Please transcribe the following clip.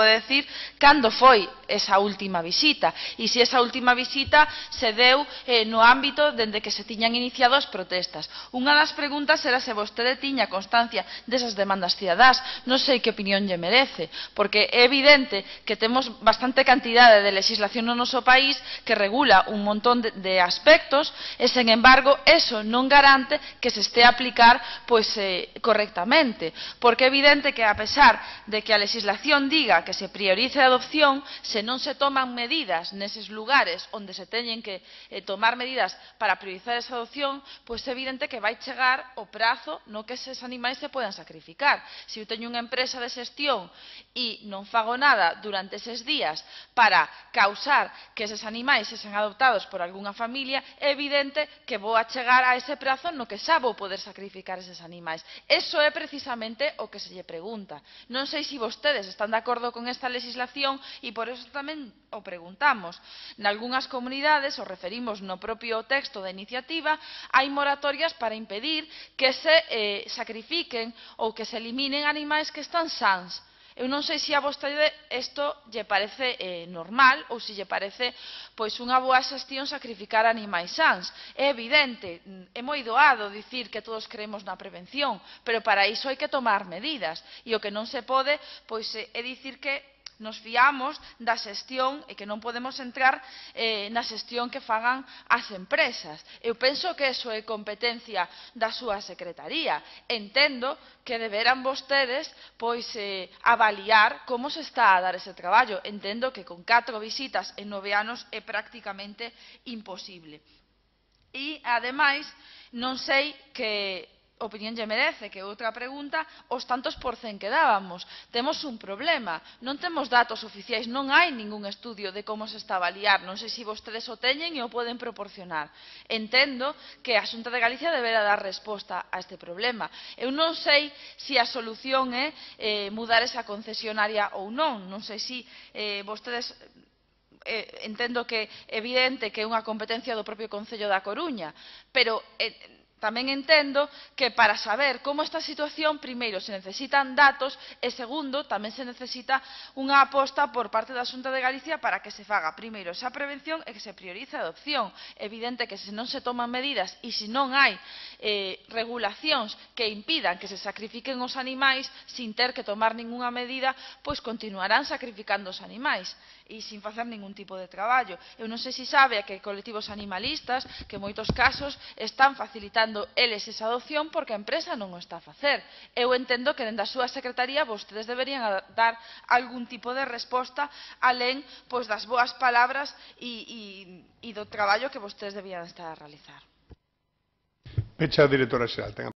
decir cando foi esa última visita e se esa última visita se deu no ámbito dende que se tiñan iniciado as protestas. Unha das preguntas era se vostede tiña constancia desas demandas cidadás. Non sei que opinión lle merece, porque é evidente que temos bastante cantidade de legislación no noso país que regula un montón de aspectos e, sen embargo, eso non garante que se este a aplicar correctamente, porque é evidente que, a pesar de que a legislación diga que se priorice a adopción, se non se toman medidas neses lugares onde se teñen que tomar medidas para priorizar esa adopción, pois é evidente que vai chegar o prazo no que eses animais se poden sacrificar. Se eu teño unha empresa de xestión e non fago nada durante eses días para causar que eses animais sexan adoptados por algunha familia, é evidente que vou a chegar a ese prazo no que xa vou poder sacrificar eses animais. Eso é precisamente o que se lle pregunta. Non sei se vostedes están de acordo con esta legislación e por eso tamén o preguntamos. Nalgunhas comunidades, o referimos no propio texto da iniciativa, hai moratorias para impedir que se sacrifiquen ou que se eliminen animais que están sans. Eu non sei se a vostede isto lle parece normal ou se lle parece unha boa xestión sacrificar animais sans. É evidente, é moi doado dicir que todos creemos na prevención, pero para iso hai que tomar medidas e o que non se pode é dicir que nos fiamos da xestión e que non podemos entrar na xestión que fagan as empresas. Eu penso que iso é competencia da súa secretaría. Entendo que deberán vostedes avaliar como se está a dar ese traballo. Entendo que con 4 visitas en 9 anos é prácticamente imposible. E, ademais, non sei que opinión lle merece, que outra pregunta, os tantos por cen que dábamos. Temos un problema, non temos datos oficiais, non hai ningún estudio de como se está a avaliar, non sei se vostedes o teñen e o poden proporcionar. Entendo que a Xunta de Galicia deberá dar resposta a este problema. Eu non sei se a solución é mudar esa concesionaria ou non, non sei se vostedes entendo que é evidente que é unha competencia do propio Concello da Coruña, pero tamén entendo que para saber como está a situación, primeiro se necesitan datos e segundo tamén se necesita unha aposta por parte da Xunta de Galicia para que se faga primeiro esa prevención e que se priorice a adopción. É evidente que se non se toman medidas e se non hai regulacións que impidan que se sacrifiquen os animais sin ter que tomar ningunha medida, pois continuarán sacrificando os animais e sin facer ningún tipo de traballo. Eu non sei se sabe que colectivos animalistas que en moitos casos están facilitando eles esa adopción porque a empresa non o está a facer. Eu entendo que dende a súa secretaría vostedes deberían dar algún tipo de resposta alén das boas palabras e do traballo que vostedes debían estar a realizar. Pecha a directora xeral.